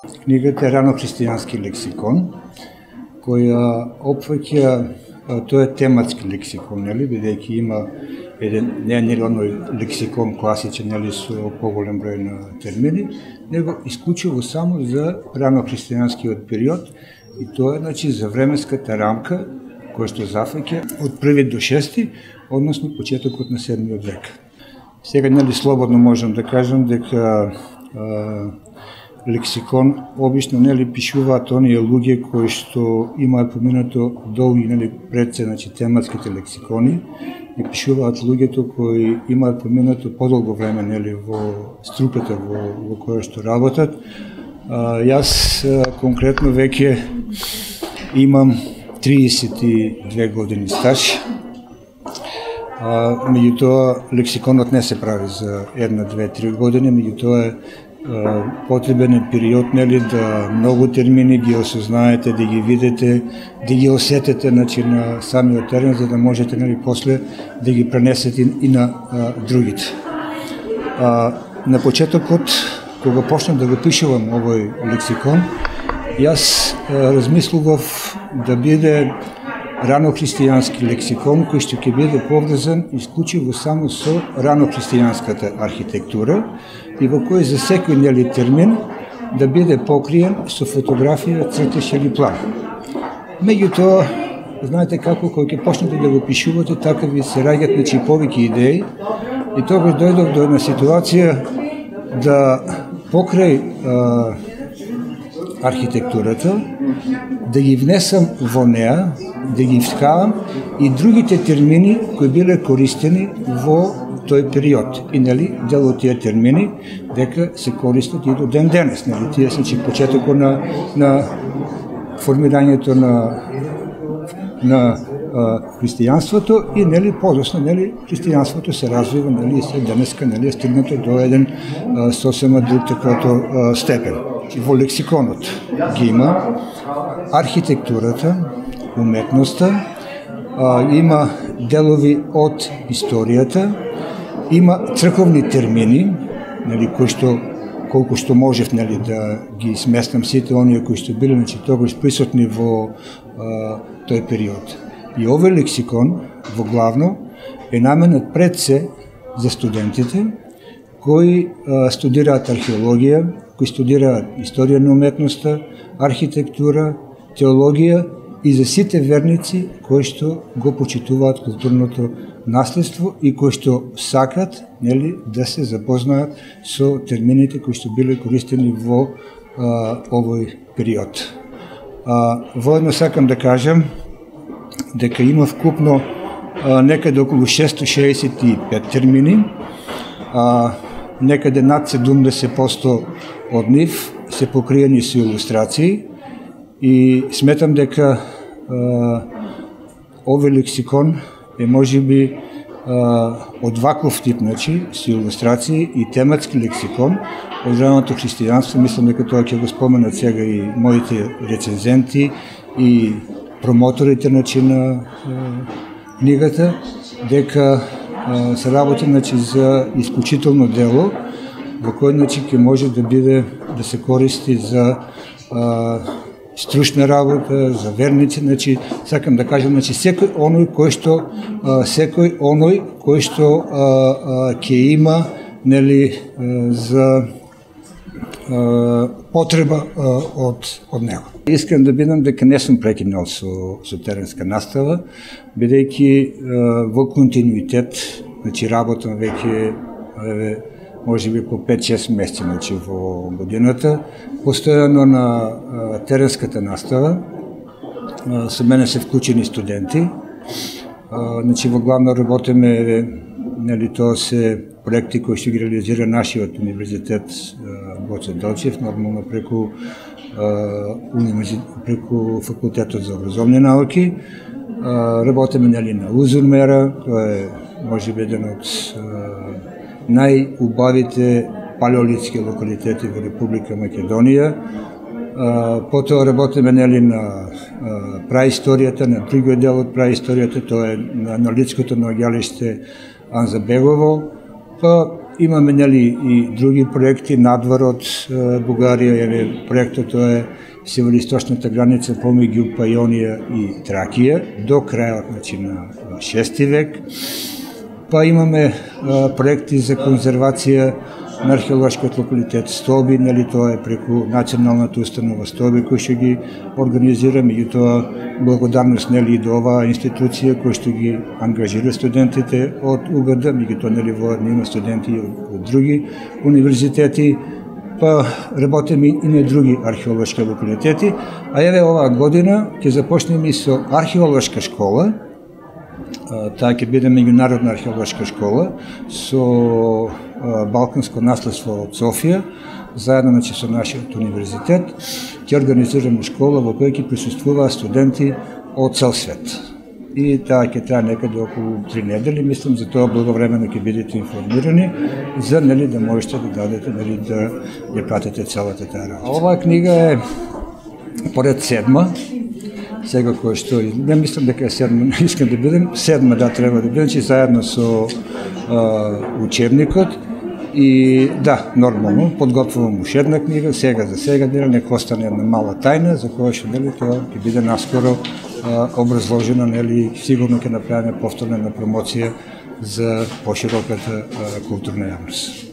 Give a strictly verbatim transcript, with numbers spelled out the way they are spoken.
Книгата е Рано христијански лексикон, која опфаќа, тоа е тематски лексикон, нели, бидејќи има еден не е оној лексикон класичен, нели, со поголем број на термини, него исклучиво само за рано христијанскиот период, и тоа е, значи, за временската рамка која што зафаќа од први до шести, односно почетокот на седмиот век. Сега, нели, слободно можам да кажам дека а, лексикон обично, нели, пишуваат оние луѓе кои што имаат поминато долги, нели, пред се, значи, тематските лексикони, и пишуваат луѓето кои имаат поминато подолго време, нели, во струката во, во која што работат. А, јас а, конкретно веќе имам триесет и две години стаж. А, меѓутоа, лексиконот не се прави за една, две, три години, меѓутоа е потребен е период, нели, да многу термини ги осознаете, да ги видите, да ги осетете, значи, на самиот терен, за да можете, нели, после да ги пренесете и на а, другите. А, на почетокот, кога почнав да го пишувам овој лексикон, јас а, размислував да биде рано христијански лексикон, кој што ќе биде поврзан исклучиво само со рано христијанската архитектура, и во кој за секој, нели, термин да биде покриен со фотографија, цртеж или план. Меѓутоа, знаете како, кога ќе почнете да го пишувате, така ви се раѓаат, значи, повеќе идеи, и тогаш дојдов до една ситуација да покрај а, архитектурата, да ги внесам во неа, да ги вткавам и другите термини кои биле користени во тој период. И, нели, дел од тие термини дека се користат и до ден денес. Нели, тие се, че почетокот на, на формирањето на, на а, христијанството и, нели, подосно, нели, христијанството се развива, нели, и се денеска, нели, е стигнато до еден а, сосема друг таквото а, степен. Во лексиконот ги има архитектурата, уметноста, а, има делови од историјата, има црковни термини, нели, кои што колку што можев, нели, да ги сместам сите оние кои што биле, значи, тогаш присутни во а, тој период. И овој лексикон во главно е наменет пред се за студентите кои а, студираат археологија, кои студираат историја на уметноста, архитектура, теологија и за сите верници кои што го почитуваат културното наследство и кои што сакат, нели, да се запознаат со термините кои што биле користени во а, овој период. А, воедно сакам да кажам дека има вкупно а, некаде околу шестоста шеесет и пет термини, а, некаде над седумдесет проценти од нив се покриени со илустрации, и сметам дека а, овој лексикон е можеби а, од ваков тип, значи, со илустрации и тематски лексикон од раното христијанство. Мислам дека тоа ќе го споменат сега и моите рецензенти и промоторите, значи, на а, книгата, дека а, се работи, значи, за исклучително дело во кој, значи, ќе може да биде, да се користи за а, стручна работа, за верници, значи, сакам да кажам, значи, секој оној кој што а, секој оној кој што а, а, ќе има, нели, а, за а, потреба а, од од него. Искам да бидам дека не сум прекинал со со теренска настава, бидејќи во континуитет, значи, работам веќе еве може би по пет-шест месеци, значи, во годината, постојано на а, теренската настава. А, со мене се вклучени студенти. А, значи, во главно работиме, нели, тоа се проекти кои што ги реализира нашиот универзитет Гоце Делчев, нормално преку а, преку факултетот за образовни науки. А, работиме, нели, на Узурмера, тоа е можеби еден од најубавите палеолитски локалитети во Република Македонија. Потоа работиме, нели, на праисторијата, на другиот дел од праисторијата, тоа е на аналитското наоѓалиште Анзабегово. Па имаме нели и други проекти надвор од Бугарија, еве проектот тоа е североисточната граница помеѓу Пајонија и Тракија до крајот значи на шести век. Па имаме а, проекти за конзервација на археолошкиот локалитет Столби, нели тоа е преку националната установа Столби кој што ги организира, меѓутоа благодарност нели и до оваа институција кој што ги ангажира студентите од У Г Д, меѓутоа нели во има студенти од, од други универзитети, па работиме и на други археолошки локалитети, а еве оваа година ќе започнеме и со археолошка школа. Таа ќе биде меѓународна археолошка школа со балканско наследство од Софија, заедно значи со нашиот универзитет, ќе организираме школа во која ќе присуствуваат студенти од цел свет. И таа ќе трае некаде околу три недели, мислам, за тоа благовремено ќе бидете информирани, за нели да можете да дадете, нели да ја пратите целата таа работа. Оваа книга е поред седма, сега кој што, не мислам дека е седма, искам да бидем, седма да треба да бидем, че заедно со а, учебникот. И да, нормално, подготвувам уште една книга, сега за сега, нели, нека остане една мала тајна, за која што, нели, тоа ќе биде наскоро а, образложена, нели, сигурно ќе направиме повторна промоција за пошироката а, културна јавност.